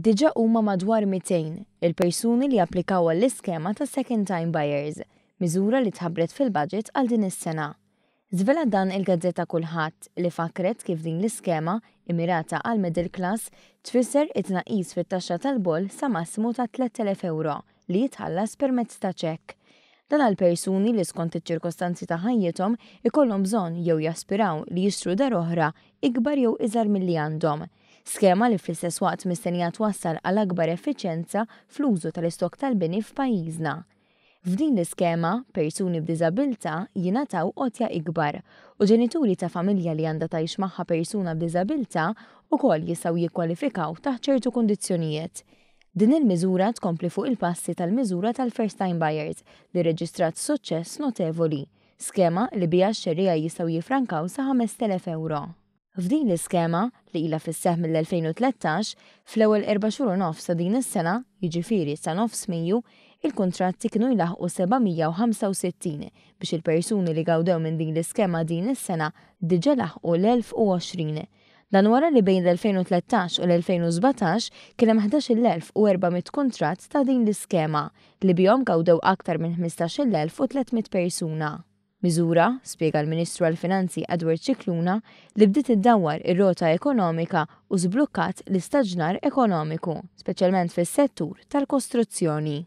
Diġà huma madwar 200 il-persuni li applikaw għall-iskema ta' Second Time Buyers, miżura li tħabbret fil-budget għal din is-sena. Żvelat dan il-gazzetta Kullħadd li fakkret kif din l-iskema, immirata għall-middle class, tfisser it-tnaqqis fit-taxxa tal-boll sa massimu ta' 3,000 ewro li jitħallas permezz ta' ċekk. Dan għal persuni li skont iċ-ċirkostanzi ta' ħajjithom ikollhom bżonn jew jaspiraw li jixtru dar oħra ikbar jew iżgħar milli għandhom. Skema li fl-istess waqt mistennija twassal għal akbar effiċjenza fl-użu tal-istokk tal-bini f'pajjiżna. F'din l-iskema, persuni b'diżabilità jingħataw għotja ikbar u ġenituri ta' familja li għandha tgħix magħha persuna b'diżabilità wkoll jistgħu jikkwalifikaw taħt ċertu kundizzjonijiet. Din il-miżura tkompli fuq il-passi tal-miżura tal-First Time Buyers li rreġistrat suċċess notevoli, skema li biha x-xerrejja jistgħu jiffrankaw sa 5,000 ewro. F'din l-iskema, li ilha fis-seħħ mill-2013, fl-ewwel erba' xhur u nofs ta' din is-sena, jiġifieri sa nofs Mejju, il-kuntratti kienu jlaħħqu 765 biex il-persuni li gawdew minn din l-iskema din is-sena diġà laħqu l-1,020. Dan wara li bejn l-2013 u l-2017 kien hemm 11,400 kuntratt ta' din l-iskema li bihom gawdew aktar minn 15,300 persuna. Miżura, spjega l-Ministru għall-Finanzi Edward Scicluna, li bdiet iddawwar ir-rota ekonomika u żblukkat l-istaġnar ekonomiku, speċjalment fis-settur tal-kostruzzjoni.